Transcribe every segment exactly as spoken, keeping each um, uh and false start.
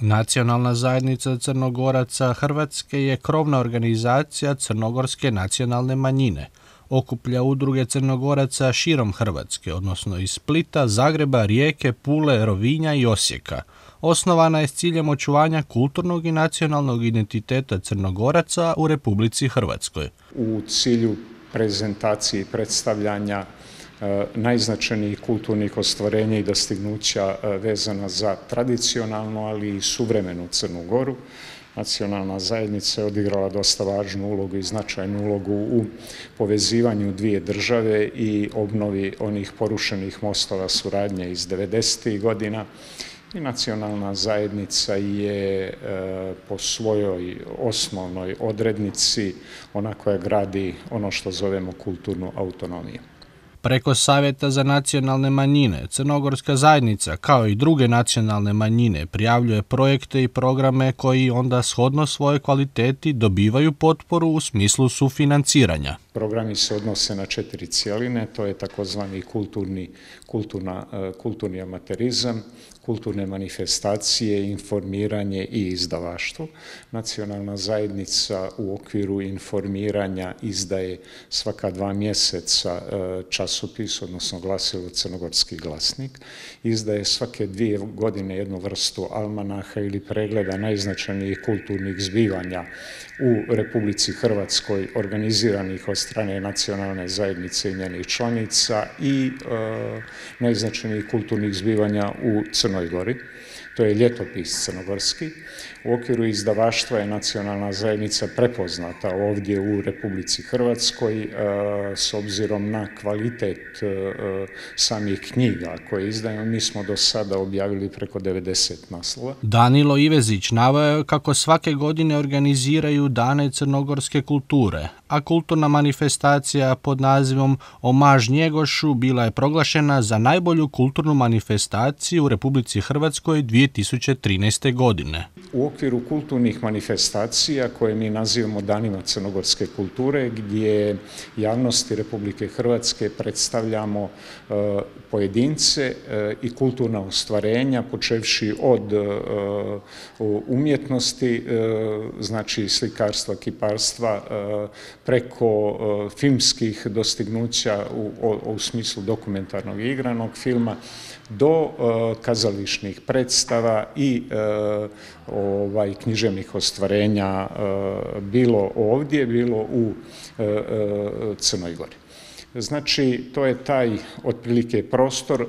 Nacionalna zajednica Crnogoraca Hrvatske je krovna organizacija crnogorske nacionalne manjine. Okuplja udruge Crnogoraca širom Hrvatske, odnosno iz Splita, Zagreba, Rijeke, Pule, Rovinja i Osijeka. Osnovana je s ciljem očuvanja kulturnog i nacionalnog identiteta Crnogoraca u Republici Hrvatskoj. U cilju prezentacije i predstavljanja najznačajnijih kulturnih ostvarenja i dostignuća vezana za tradicionalnu, ali i suvremenu Crnu Goru, nacionalna zajednica je odigrala dosta važnu ulogu i značajnu ulogu u povezivanju dvije države i obnovi onih porušenih mostova suradnje iz devedesetih godina. I nacionalna zajednica je po svojoj osnovnoj odrednici ona koja gradi ono što zovemo kulturnu autonomiju. Preko Savjeta za nacionalne manjine, Crnogorska zajednica, kao i druge nacionalne manjine, prijavljuje projekte i programe koji onda shodno svojoj kvaliteti dobivaju potporu u smislu sufinanciranja. Programi se odnose na četiri cjeline, to je takozvani kulturni, kulturna, kulturni amaterizam, kulturne manifestacije, informiranje i izdavaštvo. Nacionalna zajednica u okviru informiranja izdaje svaka dva mjeseca časopis, odnosno glasilo Crnogorski glasnik. Izdaje svake dvije godine jednu vrstu almanaha ili pregleda najznačajnijih kulturnih zbivanja u Republici Hrvatskoj, organiziranih od strane nacionalne zajednice i njenih članica i e, najznačajnijih kulturnih zbivanja u Crnoj Gori. To je ljetopis crnogorski. U okviru izdavaštva je nacionalna zajednica prepoznata ovdje u Republici Hrvatskoj s obzirom na kvalitet samih knjiga koje izdajemo. Mi smo do sada objavili preko devedeset naslova. Danilo Ivezić naveo je kako svake godine organiziraju Dane crnogorske kulture, a kulturna manifestacija pod nazivom Omaž Njegošu bila je proglašena za najbolju kulturnu manifestaciju u Republici Hrvatskoj dvije tisuće trinaeste. godine. U okviru kulturnih manifestacija koje mi nazivamo Danima crnogorske kulture, gdje javnosti Republike Hrvatske predstavljamo uh, pojedince uh, i kulturna ostvarenja, počevši od uh, umjetnosti, uh, znači slikarstva, kiparstva, uh, preko uh, filmskih dostignuća u, u, u smislu dokumentarnog i igranog filma, do uh, kazališnih predstava i uh, ovaj, književnih ostvarenja uh, bilo ovdje, bilo u uh, uh, Crnoj Gori. Znači, to je taj otprilike prostor.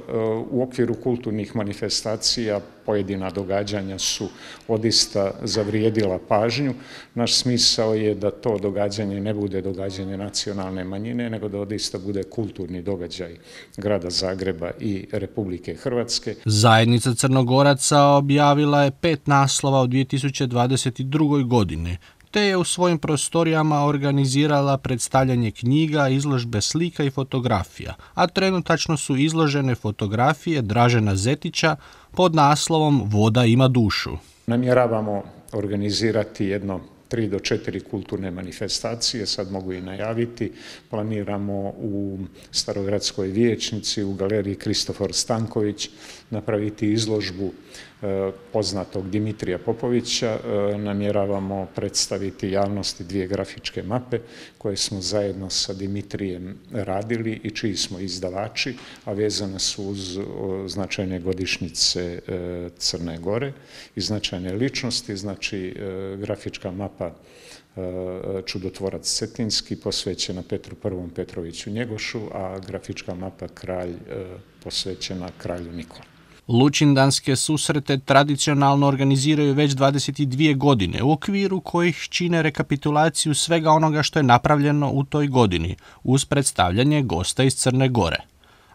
U okviru kulturnih manifestacija pojedina događanja su odista zavrijedila pažnju. Naš smisao je da to događanje ne bude događanje nacionalne manjine, nego da odista bude kulturni događaj grada Zagreba i Republike Hrvatske. Zajednica Crnogoraca objavila je pet naslova u dvije tisuće dvadeset drugoj. godini. Te je u svojim prostorijama organizirala predstavljanje knjiga, izložbe slika i fotografija, a trenutačno su izložene fotografije Dražena Zetića pod naslovom Voda ima dušu. Namjeravamo organizirati jedno tri do četiri kulturne manifestacije, sad mogu i najaviti. Planiramo u Starogradskoj vijećnici, u galeriji Kristofor Stanković, napraviti izložbu poznatog Dimitrija Popovića. Namjeravamo predstaviti javnosti dvije grafičke mape koje smo zajedno sa Dimitrijem radili i čiji smo izdavači, a vezane su uz značajne godišnjice Crne Gore i značajne ličnosti. Znači, grafička mapa Čudotvorac Cetinski posvećena Petru Prvom Petroviću Njegošu, a grafička mapa Kralj posvećena kralju Nikoli. Lučindanske susrete tradicionalno organiziraju već dvadeset dvije godine, u okviru kojih čine rekapitulaciju svega onoga što je napravljeno u toj godini, uz predstavljanje gosta iz Crne Gore.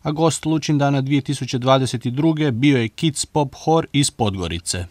A gost Lučindana dvije tisuće dvadeset druge bio je Kids Pop Hor iz Podgorice.